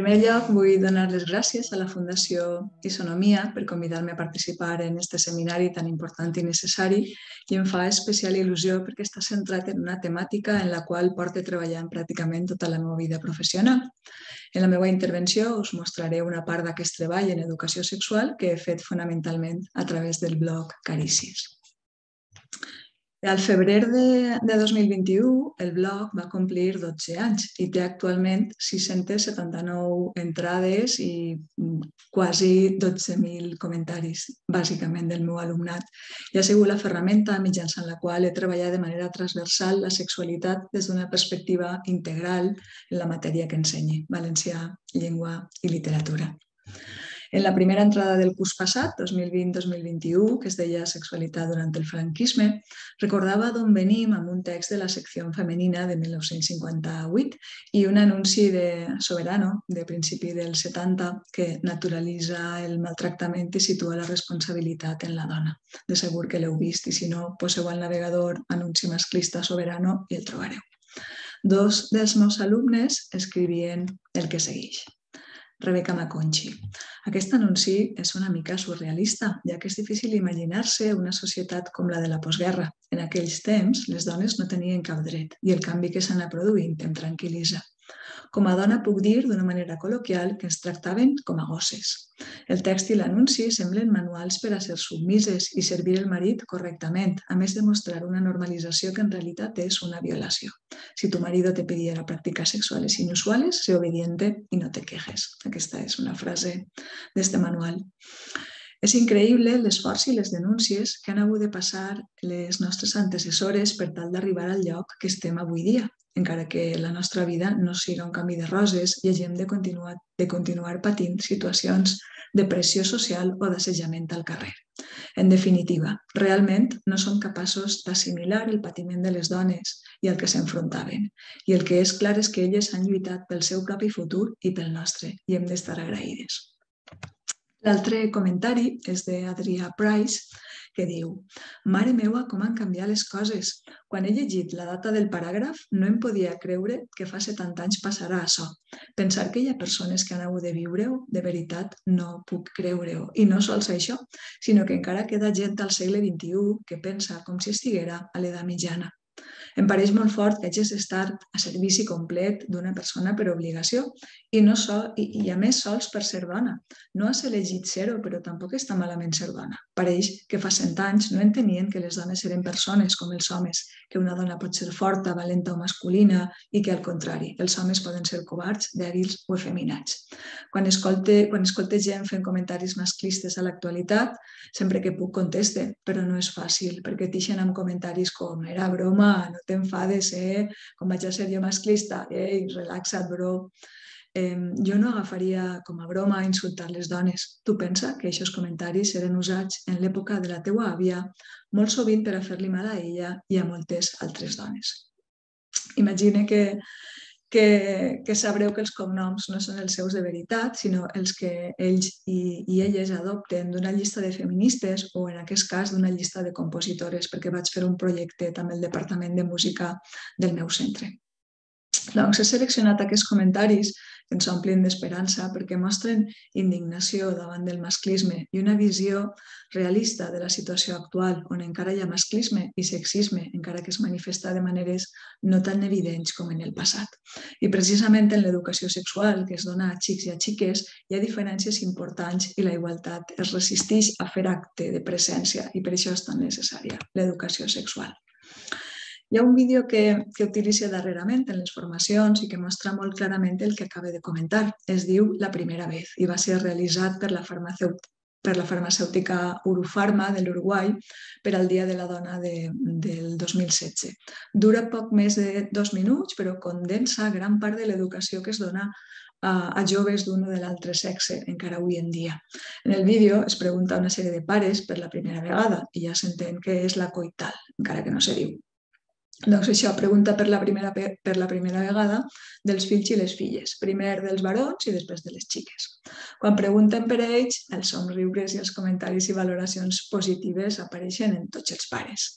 primer lloc, vull donar les gràcies a la Fundació Isonomia per convidar-me a participar en aquest seminari tan important i necessari i em fa especial il·lusió perquè està centrat en una temàtica en la qual porto treballant pràcticament tota la meva vida professional. En la meva intervenció us mostraré una part d'aquest treball en educació sexual que he fet fonamentalment a través del blog Carícies. Al febrer de 2021, el blog va complir 12 anys i té actualment 679 entrades i quasi 12.000 comentaris, bàsicament del meu alumnat. I ha sigut la ferramenta mitjançant la qual he treballat de manera transversal la sexualitat des d'una perspectiva integral en la matèria que ensenye, valencià, llengua i literatura. En la primera entrada del curs passat, 2020-2021, que es deia Sexualitat durant el franquisme, recordava d'on venim amb un text de la secció femenina de 1958 i un anunci de Soberano, de principi del 70, que naturalitza el maltractament i situa la responsabilitat en la dona. De segur que l'heu vist i si no, poseu al navegador anunci masclista Soberano i el trobareu. Dos dels meus alumnes escrivien el que segueix. Rebeca Maconchi. Aquest anunci és una mica surrealista, ja que és difícil imaginar-se una societat com la de la postguerra. En aquells temps, les dones no tenien cap dret i el canvi que s'ha anat produint em tranquil·litza. Com a dona puc dir d'una manera col·loquial que ens tractaven com a gosses. El text i l'anunci semblen manuals per a ser submises i servir el marit correctament, a més de mostrar una normalització que en realitat és una violació. Si tu marido te pidiera prácticas sexuales inusuales, sé obediente y no te quejes. Aquesta és una frase d'este manual. És increïble l'esforç i les denúncies que han hagut de passar les nostres antecessores per tal d'arribar al lloc que estem avui dia, encara que la nostra vida no siga un camí de roses i hagin de continuar patint situacions de pressió social o d'assetjament al carrer. En definitiva, realment no som capaços d'assimilar el patiment de les dones i el que s'enfrontaven. I el que és clar és que elles han lluitat pel seu propi futur i pel nostre i hem d'estar agraïdes. L'altre comentari és d'Adrià Price, que diu: «Mare meua, com han canviat les coses. Quan he llegit la data del paràgraf, no em podia creure que fa 70 anys passarà això. Pensar que hi ha persones que han hagut de viure-ho, de veritat, no puc creure-ho. I no sols això, sinó que encara queda gent al segle XXI que pensa com si estiguera a l'edat mitjana. Em pareix molt fort que hagis d'estar a servici complet d'una persona per obligació i a més sols per ser dona. No has elegit ser-ho, però tampoc està malament ser dona. Pareix que fa 100 anys no entenien que les dones eren persones com els homes, que una dona pot ser forta, valenta o masculina i que, al contrari, els homes poden ser covards, dèbils o efeminats. Quan escolte gent fent comentaris masclistes a l'actualitat, sempre que puc conteste, però no és fàcil, perquè t'ixen amb comentaris com «era broma, no t'enfades, com vaig a ser jo masclista, ei, relaxa't, bro». Jo no agafaria com a broma insultar les dones. Tu pensa que aquests comentaris eren usats en l'època de la teua àvia molt sovint per a fer-li mal a ella i a moltes altres dones. Imagina que sabreu que els cognoms no són els seus de veritat, sinó els que ells i elles adopten d'una llista de feministes o, en aquest cas, d'una llista de compositores, perquè vaig fer un projecte amb el Departament de Música del meu centre. Doncs he seleccionat aquests comentaris que ens omplin d'esperança perquè mostren indignació davant del masclisme i una visió realista de la situació actual, on encara hi ha masclisme i sexisme, encara que es manifesta de maneres no tan evidents com en el passat. I precisament en l'educació sexual que es dona a xics i a xiques hi ha diferències importants i la igualtat es resisteix a fer acte de presència i per això és tan necessària l'educació sexual. Hi ha un vídeo que utilitzo darrerament en les formacions i que mostra molt clarament el que acabo de comentar. Es diu La primera vez i va ser realitzat per la farmacèutica Urufarma de l'Uruguai per al Dia de la Dona del 2016. Dura poc més de 2 minuts, però condensa gran part de l'educació que es dona a joves d'un o de l'altre sexe encara avui en dia. En el vídeo es pregunta a una sèrie de pares per la primera vegada i ja s'entén que és la coital, encara que no se diu. Doncs això, pregunta per la primera vegada dels fills i les filles, primer dels barons i després de les xiques. Quan pregunten per ells, els somriures i els comentaris i valoracions positives apareixen en tots els pares.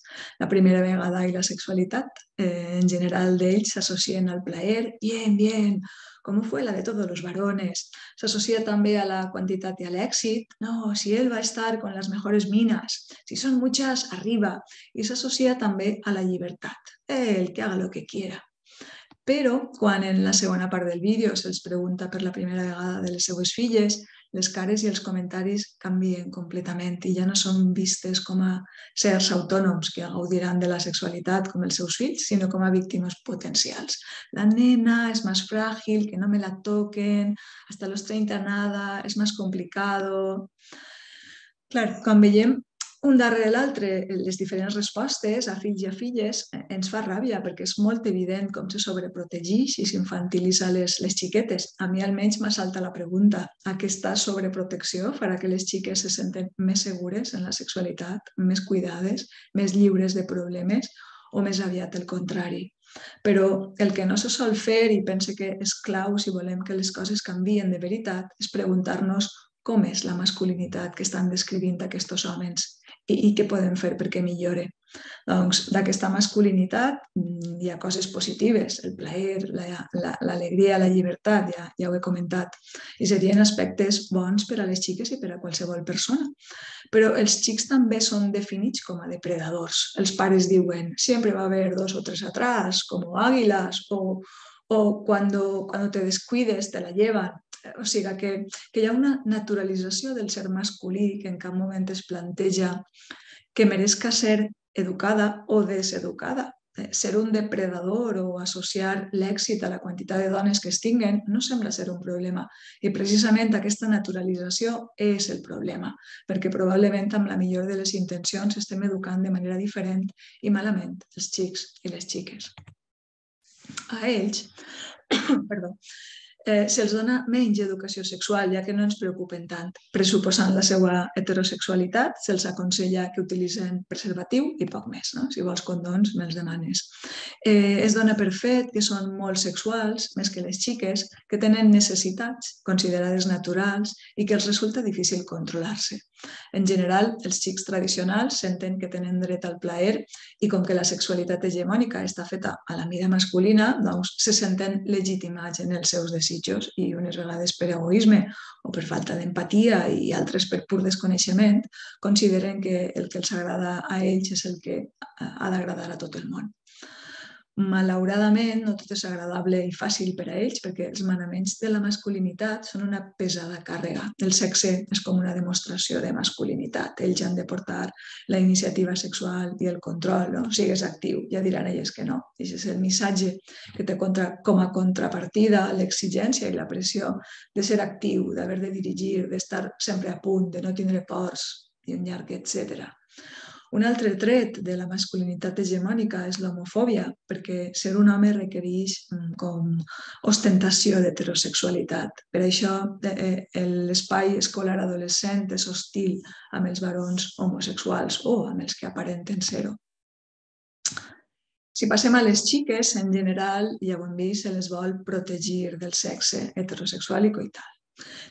La primera vegada i la sexualitat, en general d'ells, s'associen al plaer, bien, como fue la de todos los varones. Se asocia también a la cantidad y al éxito. No, si él va a estar con las mejores minas, si son muchas, arriba. Y se asocia también a la libertad. Él que haga lo que quiera. Però quan en la segona part del vídeo se'ls pregunta per la primera vegada de les seues filles, les cares i els comentaris canvien completament i ja no són vistes com a sers autònoms que gaudiran de la sexualitat com els seus fills, sinó com a víctimes potencials. La nena es más frágil, que no me la toquen, hasta los 30 nada, es más complicado. Clar, quan veiem un darrere l'altre les diferents respostes a fills i a filles ens fa ràbia perquè és molt evident com se sobreprotegeix i s'infantilitza les xiquetes. A mi almenys m'assalta la pregunta: aquesta sobreprotecció farà que les xiques se senten més segures en la sexualitat, més cuidades, més lliures de problemes o més aviat el contrari? Però el que no se sol fer i pense que és clau si volem que les coses canvien de veritat és preguntar-nos com és la masculinitat que estan descrivint aquests homes i què podem fer perquè millore. Doncs d'aquesta masculinitat hi ha coses positives, el plaer, l'alegria, la llibertat, ja ho he comentat, i serien aspectes bons per a les xiques i per a qualsevol persona. Però els xics també són definits com a depredadors. Els pares diuen, sempre va haver 2 o 3 atrás, como águilas, o cuando te descuides te la llevan. O sigui que hi ha una naturalització del ser masculí que en cap moment es planteja que mereixca ser educada o deseducada. Ser un depredador o associar l'èxit a la quantitat de dones que es tinguen no sembla ser un problema. I precisament aquesta naturalització és el problema, perquè probablement amb la millor de les intencions estem educant de manera diferent i malament els xics i les xiques. A ells, perdó, se'ls dona menys educació sexual, ja que no ens preocupen tant. Pressuposant la seva heterosexualitat, se'ls aconsella que utilitzen preservatiu i poc més. Si vols condons, me'ls demanes. Es dona per fet que són molt sexuals, més que les xiques, que tenen necessitats considerades naturals i que els resulta difícil controlar-se. En general, els xics tradicionals senten que tenen dret al plaer i com que la sexualitat hegemònica està feta a la mida masculina, doncs se senten legitimats en els seus desitjos i unes vegades per egoisme o per falta d'empatia i altres per pur desconeixement, consideren que el que els agrada a ells és el que ha d'agradar a tot el món. Malauradament, no tot és agradable i fàcil per a ells perquè els manaments de la masculinitat són una pesada càrrega. El sexe és com una demostració de masculinitat. Ells han de portar la iniciativa sexual i el control, no? Sigues actiu, ja diran elles que no. I és el missatge que té com a contrapartida l'exigència i la pressió de ser actiu, d'haver de dirigir, d'estar sempre a punt, de no tindre pors i un llarg etcètera. Un altre tret de la masculinitat hegemònica és l'homofòbia, perquè ser un home requereix com ostentació d'heterosexualitat. Per això l'espai escolar adolescent és hostil amb els varons homosexuals o amb els que aparenten ser-ho. Si passem a les xiques, en general, ja ho hem vist, se les vol protegir del sexe heterosexual i coital,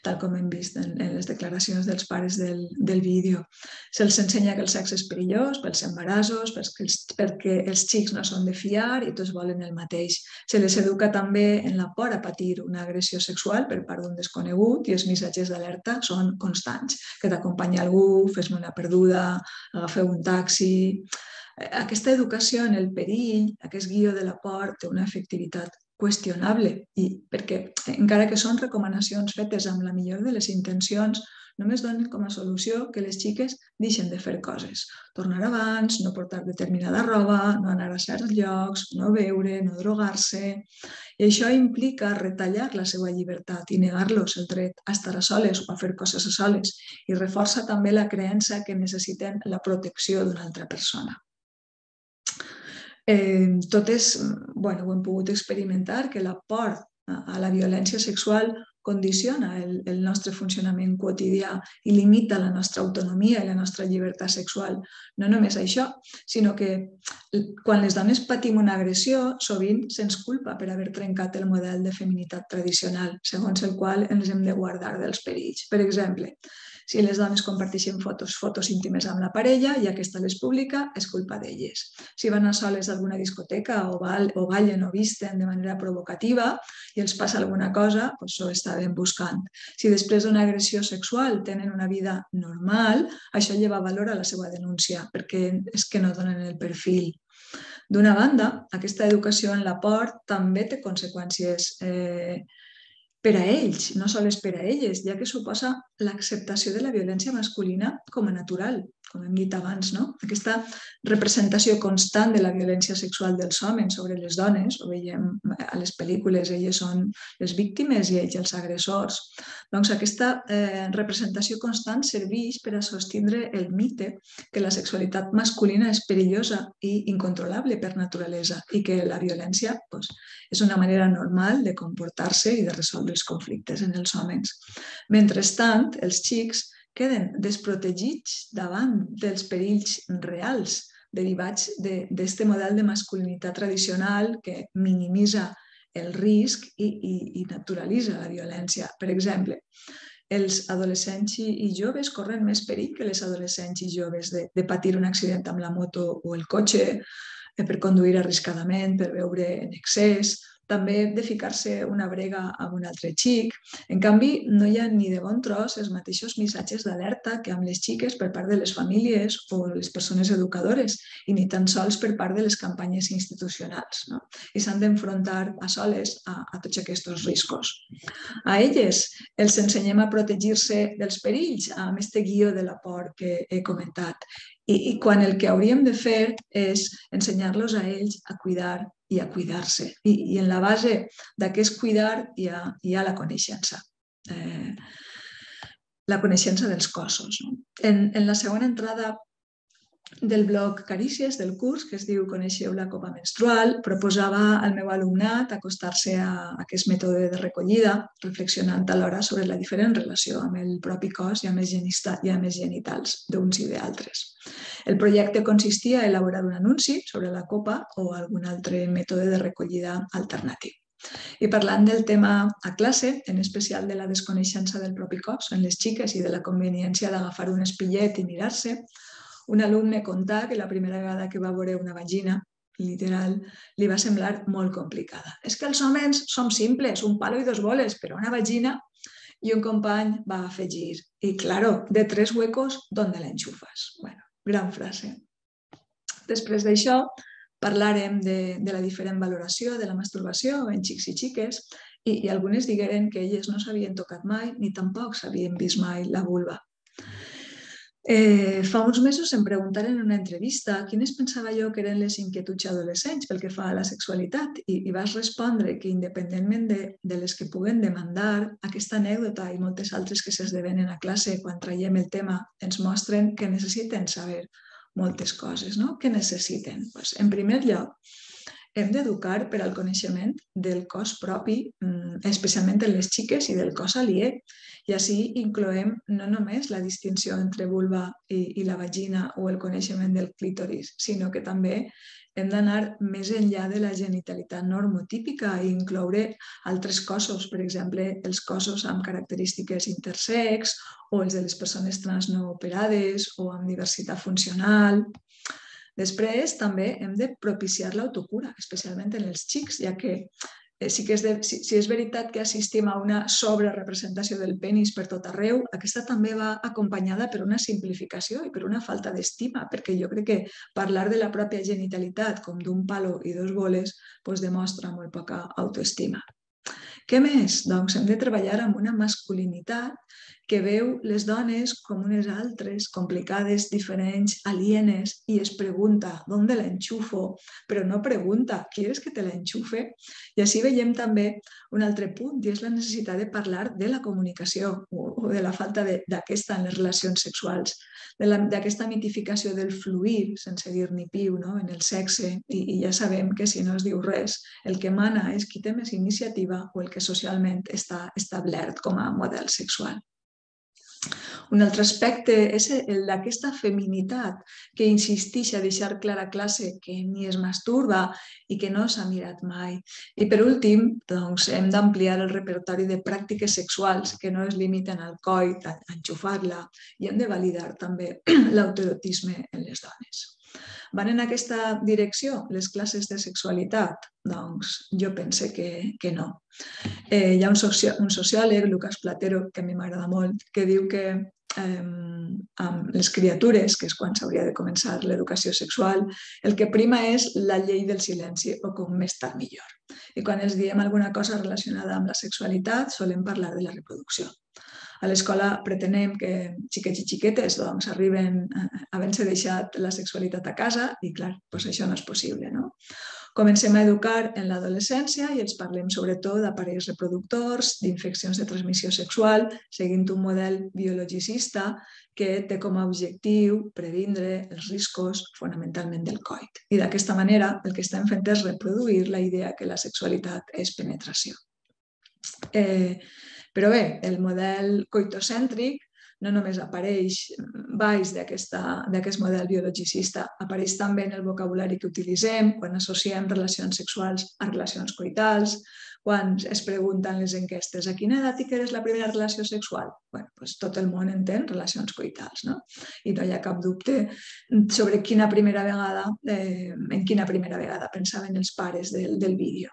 tal com hem vist en les declaracions dels pares del vídeo. Se'ls ensenya que el sexe és perillós pels embarassos, perquè els xics no són de fiar i tots volen el mateix. Se les educa també en la por a patir una agressió sexual per part d'un desconegut i els missatges d'alerta són constants. Que t'acompanya algú, fes-me una perduda, agafeu un taxi. Aquesta educació en el perill, aquest guió de la por, té una efectivitat qüestionable, perquè encara que són recomanacions fetes amb la millor de les intencions, només donen com a solució que les xiques deixen de fer coses. Tornar abans, no portar determinada roba, no anar a certs llocs, no beure, no drogar-se. I això implica retallar la seva llibertat i negar-los el dret a estar a soles o a fer coses a soles i reforça també la creença que necessiten la protecció d'una altra persona. Totes ho hem pogut experimentar, que la por a la violència sexual condiciona el nostre funcionament quotidià i limita la nostra autonomia i la nostra llibertat sexual. No només això, sinó que quan les dones patim una agressió, sovint se'ns culpa per haver trencat el model de feminitat tradicional, segons el qual ens hem de guardar dels perills. Per exemple, Si les dones comparteixen fotos íntimes amb la parella i aquesta les publica, és culpa d'elles. Si van a soles a alguna discoteca o ballen o visten de manera provocativa i els passa alguna cosa, doncs ho estaven buscant. Si després d'una agressió sexual tenen una vida normal, això lleva valor a la seva denúncia, perquè és que no donen el perfil. D'una banda, aquesta educació en la por també té conseqüències per a ells, no sols per a elles, ja que suposa l'acceptació de la violència masculina com a natural, com hem dit abans, no? Aquesta representació constant de la violència sexual dels homes sobre les dones, ho veiem a les pel·lícules, elles són les víctimes i ells els agressors. Doncs aquesta representació constant serveix per a sostindre el mite que la sexualitat masculina és perillosa i incontrolable per naturalesa i que la violència és una manera normal de comportar-se i de resoldre els conflictes en els homes. Mentrestant, els xics queden desprotegits davant dels perills reals derivats d'aquest model de masculinitat tradicional que minimitza el risc i naturalitza la violència. Per exemple, els adolescents i joves corren més perill que les adolescents i joves de patir un accident amb la moto o el cotxe, per conduir arriscadament, per beure en excés, també de ficar-se una brega amb un altre xic. En canvi, no hi ha ni de bon tros els mateixos missatges d'alerta que amb les xiques per part de les famílies o les persones educadores i ni tan sols per part de les campanyes institucionals. No? I s'han d'enfrontar a soles a tots aquests riscos. A elles els ensenyem a protegir-se dels perills amb aquest guió de la por que he comentat. I quan el que hauríem de fer és ensenyar-los a ells a cuidar i a cuidar-se. I en la base d'aquest cuidar hi ha la coneixença. La coneixença dels cossos. En la segona entrada del blog Carícies del curs, que es diu Coneixeu la copa menstrual, proposava al meu alumnat acostar-se a aquest mètode de recollida, reflexionant alhora sobre la diferent relació amb el propi cos i amb els genitals d'uns i d'altres. El projecte consistia a elaborar un anunci sobre la copa o algun altre mètode de recollida alternatiu. I parlant del tema a classe, en especial de la desconeixença del propi cos en les xiques i de la conveniència d'agafar un espillet i mirar-se, un alumne contà que la primera vegada que va veure una vagina, literal, li va semblar molt complicada. És que els homes som simples, un palo i dos boles, però una vagina... I un company va afegir, i claro, de 3 huecos, ¿dónde la enchufas? Bueno, gran frase. Després d'això, parlarem de la diferent valoració de la masturbació en xics i xiques i algunes digueren que elles no s'havien tocat mai ni tampoc s'havien vist mai la vulva. Fa uns mesos em preguntaren en una entrevista quines pensava jo que eren les inquietuds adolescents pel que fa a la sexualitat i vas respondre que independentment de les que puguen demandar, aquesta anècdota i moltes altres que s'esdevenen a classe quan traiem el tema ens mostren que necessiten saber moltes coses. No? Què necessiten? En primer lloc, hem d'educar per al coneixement del cos propi, especialment en les xiques, i del cos aliè. I així incloem no només la distinció entre vulva i la vagina o el coneixement del clítoris, sinó que també hem d'anar més enllà de la genitalitat normotípica i incloure altres cossos, per exemple, els cossos amb característiques intersex o els de les persones trans no operades o amb diversitat funcional. Després, també hem de propiciar l'autocura, especialment en els xics, ja que si és veritat que assistim a una sobrerepresentació del penis per tot arreu, aquesta també va acompanyada per una simplificació i per una falta d'estima, perquè jo crec que parlar de la pròpia genitalitat com d'un palo i 2 boles demostra molt poca autoestima. Què més? Doncs hem de treballar amb una masculinitat que veu les dones com unes altres, complicades, diferents, alienes, i es pregunta ¿dónde la enchufo? Però no pregunta ¿quieres que te la enchufe? I així veiem també un altre punt, i és la necessitat de parlar de la comunicació o de la falta d'aquesta en les relacions sexuals, d'aquesta mitificació del fluir, sense dir ni piu, en el sexe, i ja sabem que si no es diu res, el que mana és qui té més iniciativa o el que socialment està establert com a model sexual. Un altre aspecte és el d'aquesta feminitat que insisteix a deixar clara a classe que ni es masturba i que no s'ha mirat mai. I per últim, doncs, hem d'ampliar el repertori de pràctiques sexuals que no es limiten al coit, a enxufar-la, i hem de validar també l'autoerotisme en les dones. Van en aquesta direcció les classes de sexualitat? Doncs jo pense que no. Hi ha un sociòleg, Lucas Platero, que a mi m'agrada molt, que diu que amb les criatures, que és quan s'hauria de començar l'educació sexual, el que prima és la llei del silenci, o com més tard millor. I quan els diem alguna cosa relacionada amb la sexualitat, solem parlar de la reproducció. A l'escola pretenem que xiquets i xiquetes arriben havent-se deixat la sexualitat a casa i, clar, doncs això no és possible, no? Comencem a educar en l'adolescència i els parlem sobretot d'aparells reproductors, d'infeccions de transmissió sexual, seguint un model biologicista que té com a objectiu previndre els riscos fonamentalment del coit. I d'aquesta manera el que estem fent és reproduir la idea que la sexualitat és penetració. Però bé, el model coitocèntric no només apareix baix d'aquest model biologicista, apareix també en el vocabulari que utilitzem quan associem relacions sexuals a relacions coitals, quan es pregunten les enquestes a quina edat eres la primera relació sexual? Bé, doncs tot el món entén relacions coitals, no? I no hi ha cap dubte sobre en quina primera vegada pensaven els pares del vídeo.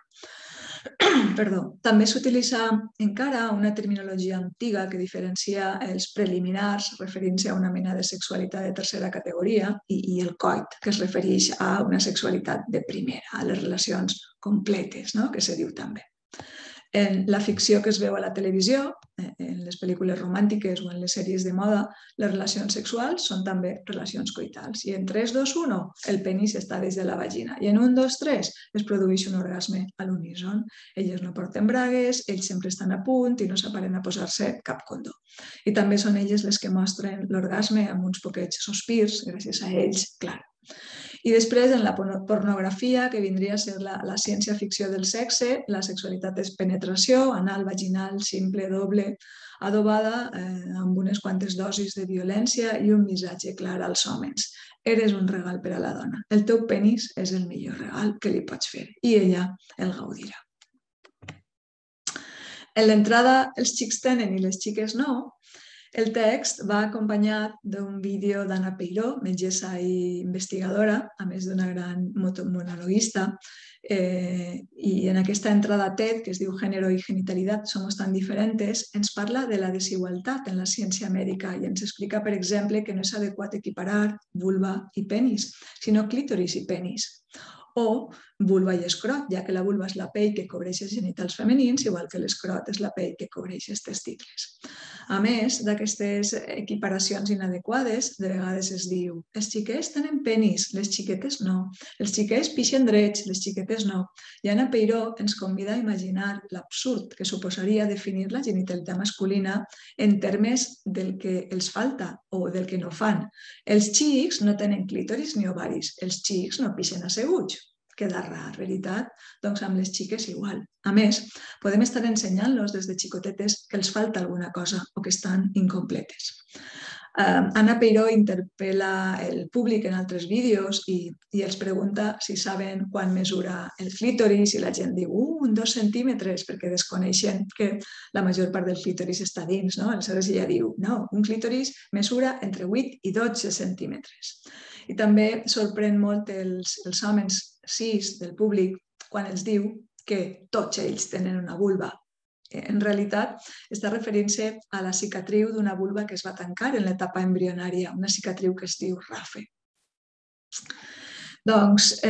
Perdó. També s'utilitza encara una terminologia antiga que diferencia els preliminars, referint-se a una mena de sexualitat de tercera categoria, i el coit, que es refereix a una sexualitat de primera, a les relacions completes, no? Que se diu també. En la ficció que es veu a la televisió, en les pel·lícules romàntiques o en les sèries de moda, les relacions sexuals són també relacions coitals. I en 3, 2, 1, el penis està dins de la vagina. I en 1, 2, 3 es produeix un orgasme a l'uníson. Elles no porten bragues, ells sempre estan a punt i no s'aparen a posar-se cap condó. I també són elles les que mostren l'orgasme amb uns poquets sospirs, gràcies a ells, clar. I després, en la pornografia, que vindria a ser la ciència-ficció del sexe, la sexualitat és penetració, anal, vaginal, simple, doble, adobada amb unes quantes dosis de violència i un missatge clar als homes. Eres un regal per a la dona. El teu penis és el millor regal que li pots fer i ella el gaudirà. En l'entrada, els xics tenen i les xiques no. El text va acompanyat d'un vídeo d'Anna Peiró, metgessa i investigadora, a més d'una gran monologuista, i en aquesta entrada TED, que es diu Género y genitalidad somos tan diferentes, ens parla de la desigualtat en la ciència mèdica i ens explica, per exemple, que no és adequat equiparar vulva i penis, sinó clítoris i penis. O vulva i escrot, ja que la vulva és la pell que cobreix els genitals femenins, igual que l'escrot és la pell que cobreix els testicles. A més d'aquestes equiparacions inadequades, de vegades es diu els xiquets tenen penis, les xiquetes no. Els xiquets pixen drets, les xiquetes no. I Anna Peiró ens convida a imaginar l'absurd que suposaria definir la genitalitat masculina en termes del que els falta o del que no fan. Els xics no tenen clítoris ni ovaris, els xics no pixen asseguts. Queda rar, veritat? Doncs amb les xiques igual. A més, podem estar ensenyant-los des de xicotetes que els falta alguna cosa o que estan incompletes. Anna Peiró interpel·la el públic en altres vídeos i els pregunta si saben quan mesura el clítoris i la gent diu 2 centímetres perquè desconeixen que la major part del clítoris està dins, no? Aleshores ella diu, no, un clítoris mesura entre 8 i 12 centímetres. I també sorprèn molt els homes cis del públic quan els diu que tots ells tenen una vulva. En realitat, està referint-se a la cicatriu d'una vulva que es va tancar en l'etapa embrionària, una cicatriu que es diu RAFE. Doncs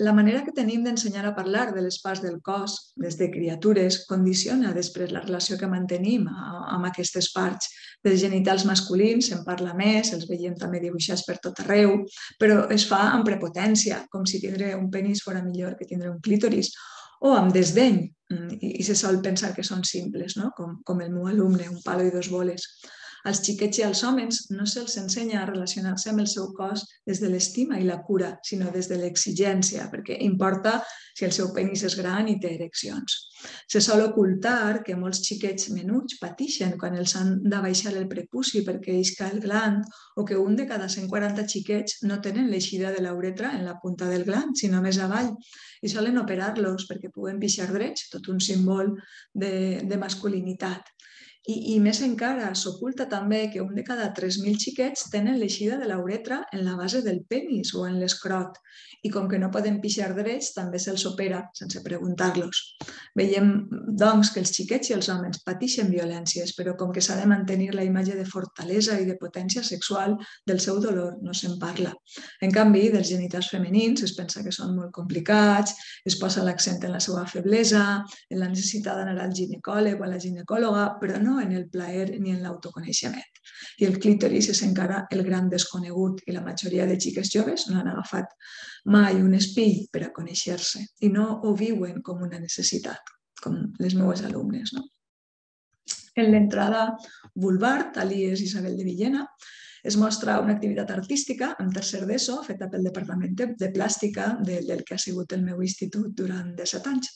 la manera que tenim d'ensenyar a parlar de les parts del cos des de criatures condiciona després la relació que mantenim amb aquestes parts. Dels genitals masculins se'n parla més, els veiem també dibuixats per tot arreu, però es fa amb prepotència, com si tindre un penis fora millor que tindre un clítoris, o amb desdeny, i se sol pensar que són simples, no? Com el meu alumne, un palo i 2 boles. Als xiquets i als homes no se'ls ensenya a relacionar-se amb el seu cos des de l'estima i la cura, sinó des de l'exigència, perquè importa si el seu penis és gran i té ereccions. Se sol ocultar que molts xiquets menuts pateixen quan els han de baixar el prepuci perquè isca el gland, o que un de cada 140 xiquets no tenen l'eixida de la uretra en la punta del gland, sinó més avall, i solen operar-los perquè puguen pixar drets, tot un símbol de masculinitat. I més encara, s'oculta també que un de cada 3.000 xiquets tenen l'eixida de la uretra en la base del penis o en l'escrot, i com que no poden pixar drets, també se'ls opera sense preguntar-los. Veiem, doncs, que els xiquets i els homes pateixen violències, però com que s'ha de mantenir la imatge de fortalesa i de potència sexual, del seu dolor no se'n parla. En canvi, dels genitals femenins es pensa que són molt complicats, es posa l'accent en la seva feblesa, en la necessitat d'anar al ginecòleg o a la ginecòloga, però no en el plaer ni en l'autoconeixement. I el clítoris és encara el gran desconegut i la majoria de xiques joves no han agafat mai un espill per a conèixer-se i no ho viuen com una necessitat, com les meves alumnes. En l'entrada vulvar, alias Isabel de Villena, es mostra una activitat artística en tercer d'ESO feta pel Departament de Plàstica del que ha sigut el meu institut durant 17 anys.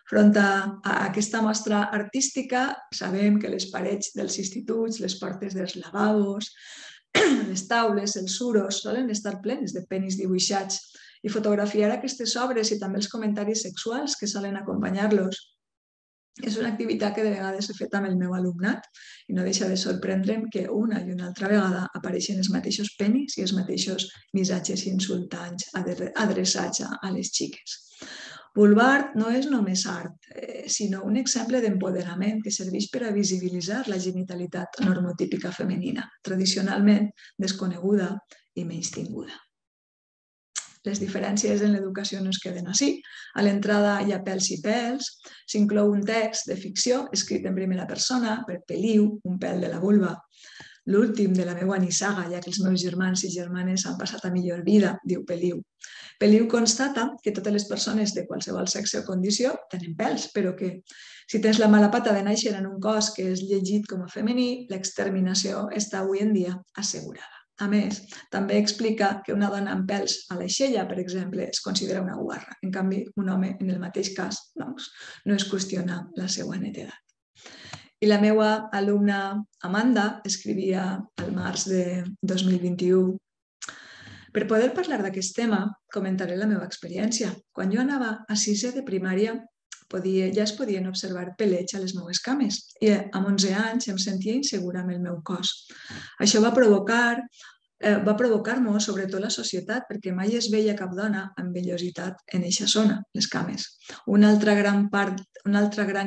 Front a aquesta mostra artística, sabem que les parets dels instituts, les portes dels lavabos, les taules, els suros, solen estar plenes de penis dibuixats, i fotografiar aquestes obres i també els comentaris sexuals que solen acompanyar-los és una activitat que de vegades he fet amb el meu alumnat i no deixa de sorprendre'm que una i una altra vegada apareixen els mateixos penis i els mateixos missatges insultants adreçats a les xiques. Vulvar no és només art, sinó un exemple d'empoderament que serveix per a visibilitzar la genitalitat normotípica femenina, tradicionalment desconeguda i menystinguda. Les diferències en l'educació no es queden així. A l'entrada hi ha Pèls i pèls, s'inclou un text de ficció escrit en primera persona per Peliu, un pèl de la vulva. L'últim de la meva nissaga, ja que els meus germans i germanes han passat a millor vida, diu Peliu. Peliu constata que totes les persones de qualsevol sexe o condició tenen pèls, però que si tens la mala pata de néixer en un cos que és llegit com a femení, l'exterminació està avui en dia assegurada. A més, també explica que una dona amb pèls a l'aixella, per exemple, es considera una guarra. En canvi, un home, en el mateix cas, doncs, no es qüestiona la seva netedat. I la meva alumna Amanda escrivia al març de 2021: per poder parlar d'aquest tema, comentaré la meva experiència. Quan jo anava a 6è de primària, ja es podien observar pelets a les meves cames i amb 11 anys em sentia insegura amb el meu cos. Això va provocar-me sobretot la societat, perquè mai es veia cap dona amb vellositat en eixa zona, les cames. Una altra gran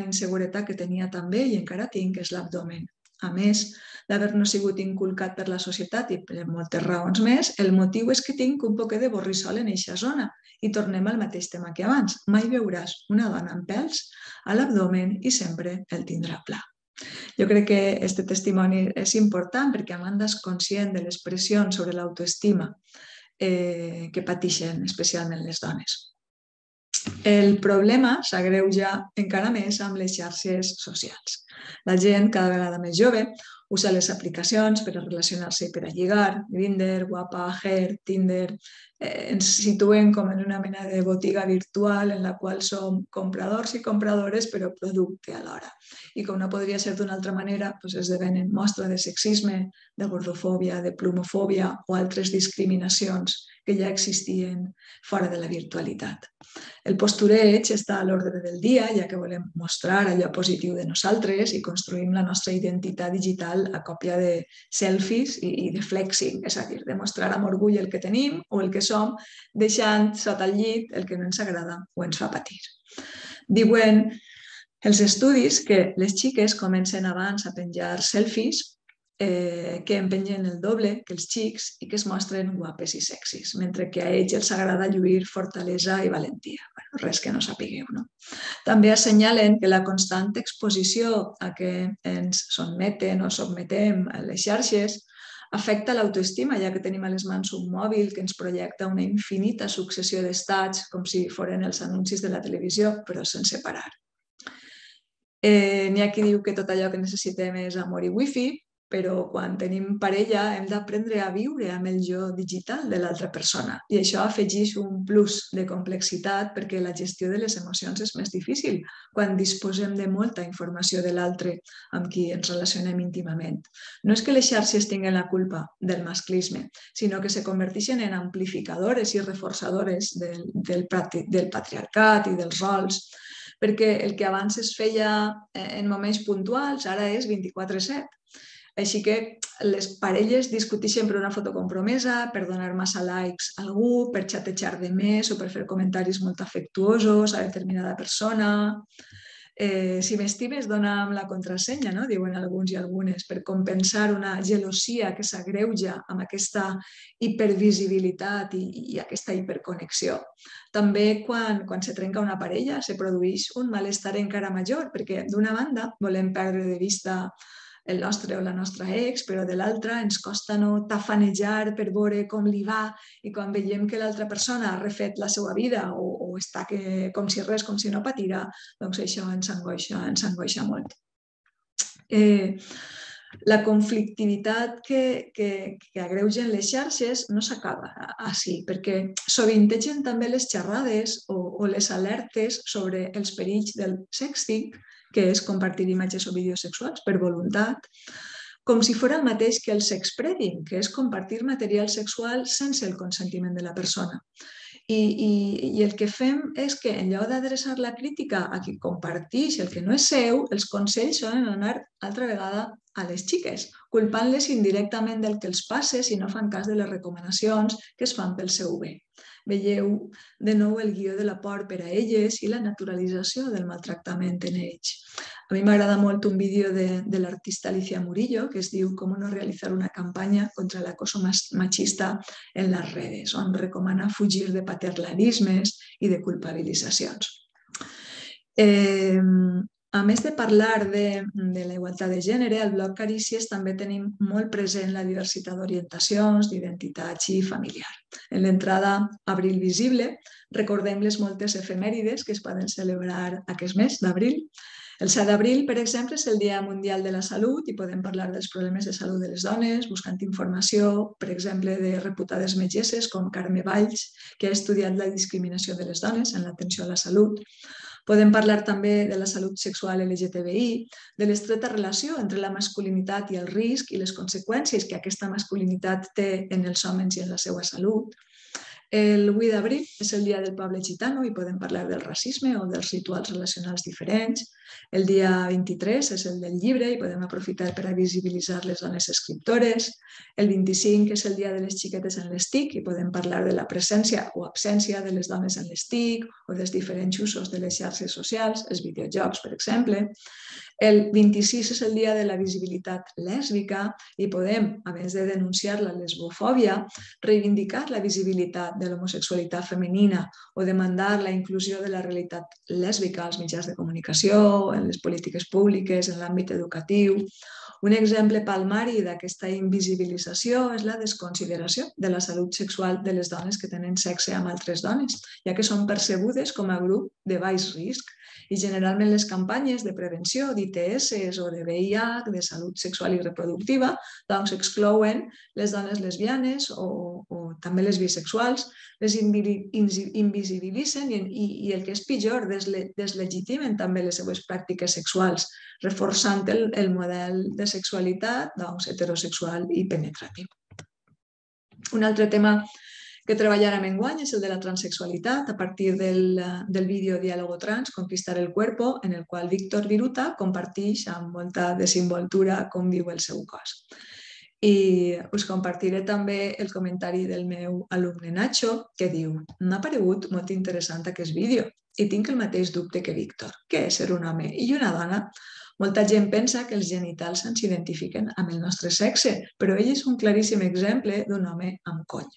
inseguretat que tenia també i encara tinc és l'abdomen. A més d'haver-no sigut inculcat per la societat i per moltes raons més, el motiu és que tinc un poquet de borrissol en eixa zona. I tornem al mateix tema que abans. Mai veuràs una dona amb pèls a l'abdomen i sempre el tindrà pla. Jo crec que aquest testimoni és important perquè Amanda és conscient de les pressions sobre l'autoestima que pateixen especialment les dones. El problema s'agreuja encara més amb les xarxes socials. La gent, cada vegada més jove, usa les aplicacions per a relacionar-se i per a lligar, Grindr, Guapa, Hair, Tinder. Ens situen com en una mena de botiga virtual en la qual som compradors i compradores, però producte alhora. I com no podria ser d'una altra manera, esdevenen mostra de sexisme, de gordofòbia, de plumofòbia o altres discriminacions que ja existien fora de la virtualitat. El postureig està a l'ordre del dia, ja que volem mostrar allò positiu de nosaltres i construïm la nostra identitat digital a còpia de selfies i de flexing, és a dir, de mostrar amb orgull el que tenim o el que som, deixant sota el llit el que no ens agrada o ens fa patir. Diuen els estudis que les xiques comencen abans a penjar selfies que en pengen el doble que els xics i que es mostren guapes i sexis, mentre que a ells els agrada lluir fortalesa i valentia. Res que no sapigueu, no? També assenyalen que la constant exposició a què ens sotmeten o sotmetem a les xarxes afecta l'autoestima, ja que tenim a les mans un mòbil que ens projecta una infinita successió d'estats, com si foren els anuncis de la televisió, però sense parar. N'hi ha qui diu que tot allò que necessitem és amor i wifi, però quan tenim parella hem d'aprendre a viure amb el jo digital de l'altra persona i això afegeix un plus de complexitat perquè la gestió de les emocions és més difícil quan disposem de molta informació de l'altre amb qui ens relacionem íntimament. No és que les xarxes tinguin la culpa del masclisme, sinó que se converteixen en amplificadores i reforçadores del patriarcat i dels rols, perquè el que abans es feia en moments puntuals ara és 24/7. Així que les parelles discuteixen per una foto compromesa, per donar massa likes a algú, per xatejar de més o per fer comentaris molt afectuosos a determinada persona. Si m'estimes, dona'm la contrasenya, no? Diuen alguns i algunes, per compensar una gelosia que s'agreuja amb aquesta hipervisibilitat i aquesta hiperconnexió. També quan se trenca una parella se produeix un malestar encara major, perquè d'una banda volem perdre de vista el nostre o la nostra ex, però de l'altra ens costa no tafanejar per veure com li va i quan veiem que l'altra persona ha refet la seva vida o està com si res, com si no patira, doncs això ens angoixa molt. La conflictivitat que agreugen les xarxes no s'acaba així, perquè sovintegen també les xerrades o les alertes sobre els perills del sexting, que és compartir imatges o vídeos sexuals per voluntat, com si fos el mateix que el sexpreading, que és compartir material sexual sense el consentiment de la persona. I el que fem és que en lloc d'adreçar la crítica a qui comparteix el que no és seu, els consells solen anar altra vegada a les xiques, culpant-les indirectament del que els passa si no fan cas de les recomanacions que es fan pel seu bé. Veieu de nou el guió de la por per a elles i la naturalització del maltractament en ells. A mi m'agrada molt un vídeo de l'artista Alicia Murillo que es diu «Cómo no realizar una campaña contra el acoso machista en las redes», on recomana fugir de paternalismes i de culpabilitzacions. A més de parlar de la igualtat de gènere, al blog Carícies també tenim molt present la diversitat d'orientacions, d'identitats i familiar. En l'entrada Abril Visible recordem les moltes efemèrides que es poden celebrar aquest mes d'abril. El 7 d'abril, per exemple, és el Dia Mundial de la Salut i podem parlar dels problemes de salut de les dones, buscant informació, per exemple, de reputades metgesses com Carme Valls, que ha estudiat la discriminació de les dones en l'atenció a la salut. Podem parlar també de la salut sexual LGTBI, de l'estreta relació entre la masculinitat i el risc i les conseqüències que aquesta masculinitat té en els homes i en la seva salut. El 8 d'abril és el dia del poble gitano i podem parlar del racisme o dels rituals relacionals diferents. El dia 23 és el del llibre i podem aprofitar per a visibilitzar les dones escriptores. El 25 és el dia de les xiquetes en les TIC i podem parlar de la presència o absència de les dones en les TIC o dels diferents usos de les xarxes socials, els videojocs, per exemple. El 26 és el dia de la visibilitat lèsbica i podem, a més de denunciar la lesbofòbia, reivindicar la visibilitat de l'homosexualitat femenina o demandar la inclusió de la realitat lèsbica als mitjans de comunicació, en les polítiques públiques, en l'àmbit educatiu. Un exemple palmari d'aquesta invisibilització és la desconsideració de la salut sexual de les dones que tenen sexe amb altres dones, ja que són percebudes com a grup de baix risc i generalment les campanyes de prevenció d'ITS o de VIH, de salut sexual i reproductiva, doncs exclouen les dones lesbianes o també les bisexuals, les invisibilitzen i el que és pitjor, deslegitimen també les seues pràctiques sexuals, reforçant el model de sexualitat heterosexual i penetratiu. Un altre tema que treballarem enguany és el de la transexualitat a partir del vídeo Diálogo Trans, Conquistar el Cuerpo, en el qual Víctor Viruta comparteix amb molta desenvoltura com viu el seu cos. I us compartiré també el comentari del meu alumne Nacho, que diu: «M'ha paregut molt interessant aquest vídeo i tinc el mateix dubte que Víctor. Què és ser un home i una dona? Molta gent pensa que els genitals ens identifiquen amb el nostre sexe, però ell és un claríssim exemple d'un home amb coll».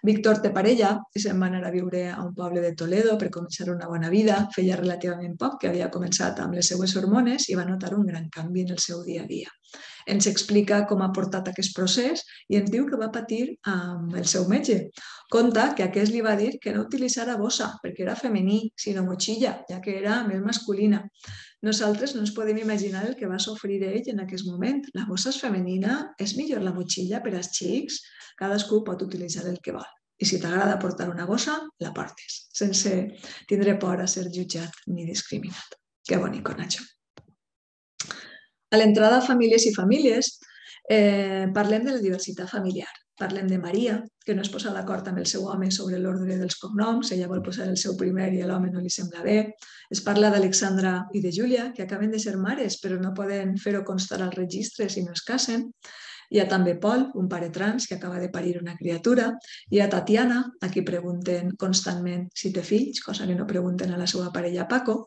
Víctor té parella i se'n va anar a viure a un poble de Toledo per començar una bona vida. Feia relativament poc que havia començat amb les seues hormones i va notar un gran canvi en el seu dia a dia. Ens explica com ha portat aquest procés i ens diu que va patir amb el seu metge. Conta que aquest li va dir que no utilitzara bossa perquè era femení, sinó motxilla, ja que era més masculina. Nosaltres no ens podem imaginar el que va sofrir ell en aquest moment. La bossa és femenina, és millor la motxilla per als xics, cadascú pot utilitzar el que vol. I si t'agrada portar una bossa, la portes, sense tindre por a ser jutjat ni discriminat. Que bonic, Nacho. A l'entrada a Famílies i Famílies parlem de la diversitat familiar. Parlem de Maria, que no es posa d'acord amb el seu home sobre l'ordre dels cognoms, ella vol posar el seu primer i a l'home no li sembla bé. Es parla d'Alexandra i de Júlia, que acaben de ser mares, però no poden fer-ho constar al registre si no es casen. Hi ha també Pol, un pare trans que acaba de parir una criatura. Hi ha Tatiana, a qui pregunten constantment si té fills, cosa que no pregunten a la seva parella Paco.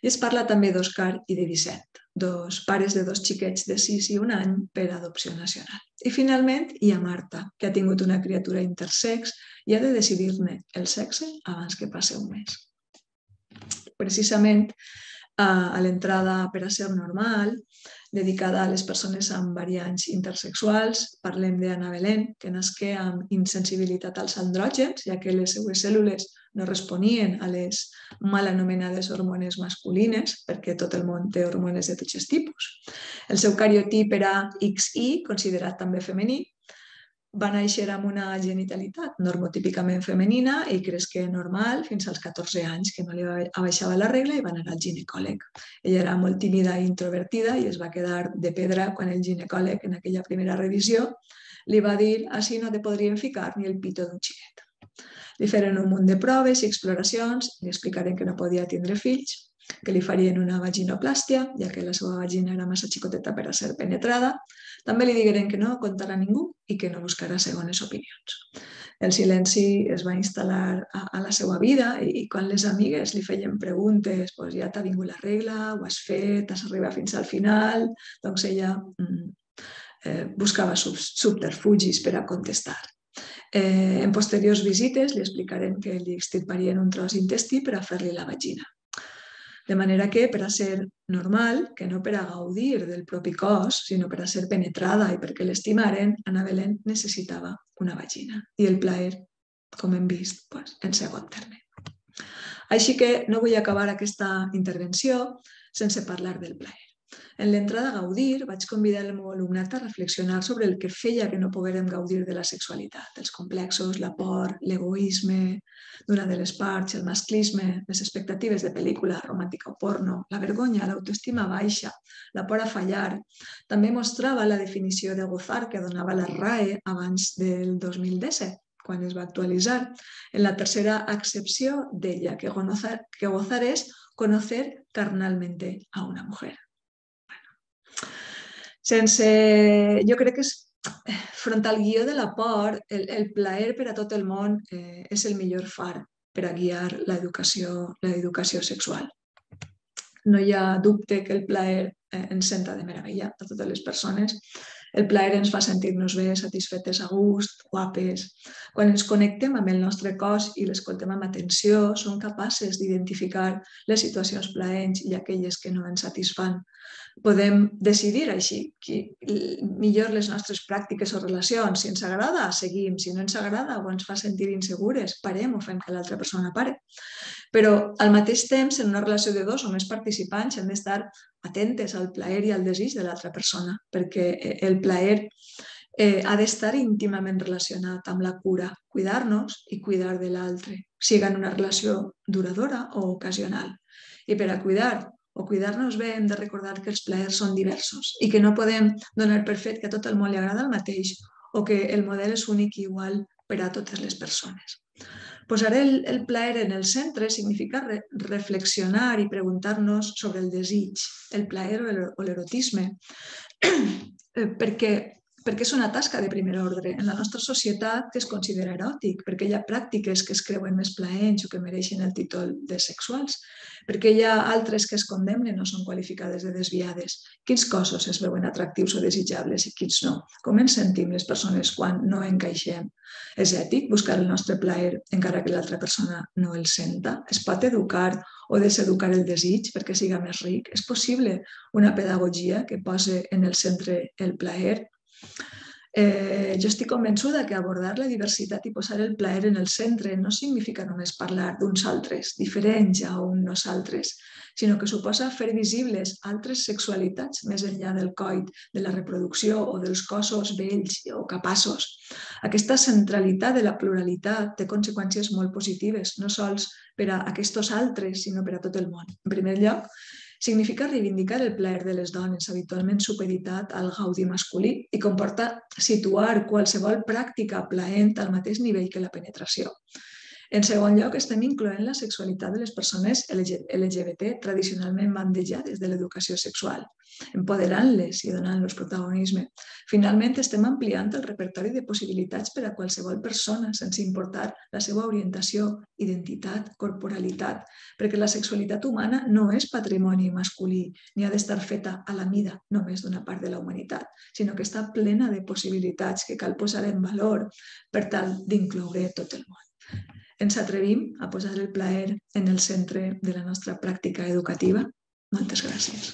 I es parla també d'Òscar i de Vicent, dos pares de dos xiquets de 6 i 1 any per adopció nacional. I finalment hi ha Marta, que ha tingut una criatura intersex i ha de decidir-ne el sexe abans que passi un mes. Precisament a l'entrada per a ser normal, dedicada a les persones amb variants intersexuals, parlem d'Anna Belén, que nasqué amb insensibilitat als andrògens, ja que les seues cèl·lules no responien a les mal anomenades hormones masculines, perquè tot el món té hormones de tots els tipus. El seu cariotip era XY, considerat també femení. Va néixer amb una genitalitat normotípicament femenina i cresqué normal fins als 14 anys, que no li abaixava la regla i va anar al ginecòleg. Ella era molt tímida i introvertida i es va quedar de pedra quan el ginecòleg, en aquella primera revisió, li va dir: «Així no te podrien ficar ni el pito d'un xiquet». Li feren un munt de proves i exploracions, li explicaren que no podia tindre fills, que li farien una vaginoplàstia, ja que la seva vagina era massa xicoteta per a ser penetrada. També li digueren que no contarà a ningú i que no buscarà segones opinions. El silenci es va instal·lar a la seva vida i quan les amigues li feien preguntes, doncs ja t'ha vingut la regla, ho has fet, has arribat fins al final, doncs ella buscava subterfugis per a contestar. En posteriors visites li explicaren que li extirparien un tros d'intestí per a fer-li la vagina. De manera que, per a ser normal, que no per a gaudir del propi cos, sinó per a ser penetrada i perquè l'estimaren, Anna Belén necessitava una vagina. I el plaer, com hem vist, en segon terme. Així que no vull acabar aquesta intervenció sense parlar del plaer. En l'entrada a gaudir vaig convidar el meu alumnat a reflexionar sobre el que feia que no poguérem gaudir de la sexualitat, els complexos, la por, l'egoisme d'una de les parts, el masclisme, les expectatives de pel·lícula romàntica o porno, la vergonya, l'autoestima baixa, la por a fallar. També mostrava la definició de gozar que donava la RAE abans del 2017, quan es va actualitzar. En la tercera accepció deia que gozar es conocer carnalmente a una mujer. Jo crec que front al guió de la por, el plaer per a tot el món és el millor far per a guiar l'educació sexual. No hi ha dubte que el plaer ens senta de meravella a totes les persones. El plaer ens fa sentir-nos bé, satisfetes a gust, guapes. Quan ens connectem amb el nostre cos i l'escoltem amb atenció, som capaces d'identificar les situacions plaents i aquelles que no ens satisfan. Podem decidir així millor les nostres pràctiques o relacions. Si ens agrada, seguim. Si no ens agrada o ens fa sentir insegures, parem o fem que l'altra persona pare. Però al mateix temps, en una relació de dos o més participants, hem d'estar atentes al plaer i al desig de l'altra persona, perquè el plaer ha d'estar íntimament relacionat amb la cura, cuidar-nos i cuidar de l'altre, sigui en una relació duradora o ocasional. I per a cuidar o cuidar-nos bé hem de recordar que els plaers són diversos i que no podem donar per fet que a tot el món li agrada el mateix o que el model és únic i igual per a totes les persones. Posar el plaer en el centre significa reflexionar i preguntar-nos sobre el desig, el plaer o l'erotisme, perquè és una tasca de primer ordre en la nostra societat que es considera eròtic, perquè hi ha pràctiques que es creuen més plaents o que mereixen el títol de sexuals, perquè hi ha altres que es condemnen o són qualificades de desviades. Quins cossos es veuen atractius o desitjables i quins no? Com ens sentim les persones quan no encaixem? És ètic buscar el nostre plaer encara que l'altra persona no el senta? Es pot educar o deseducar el desig perquè siga més ric? És possible una pedagogia que posi en el centre el plaer? Jo estic convençuda que abordar la diversitat i posar el plaer en el centre no significa només parlar d'uns altres, diferents a un nosaltres, sinó que suposa fer visibles altres sexualitats més enllà del coit, de la reproducció o dels cossos vells o capaços. Aquesta centralitat de la pluralitat té conseqüències molt positives, no sols per a aquests altres, sinó per a tot el món. En primer lloc, significa reivindicar el plaer de les dones, habitualment supeditat al gaudi masculí, i comporta situar qualsevol pràctica plaent al mateix nivell que la penetració. En segon lloc, estem incloent la sexualitat de les persones LGBT tradicionalment bandejades de l'educació sexual, empoderant-les i donant-los protagonisme. Finalment, estem ampliant el repertori de possibilitats per a qualsevol persona, sense importar la seva orientació, identitat, corporalitat, perquè la sexualitat humana no és patrimoni masculí ni ha d'estar feta a la mida només d'una part de la humanitat, sinó que està plena de possibilitats que cal posar en valor per tal d'incloure tot el món. Ens atrevim a posar el plaer en el centre de la nostra pràctica educativa? Moltes gràcies.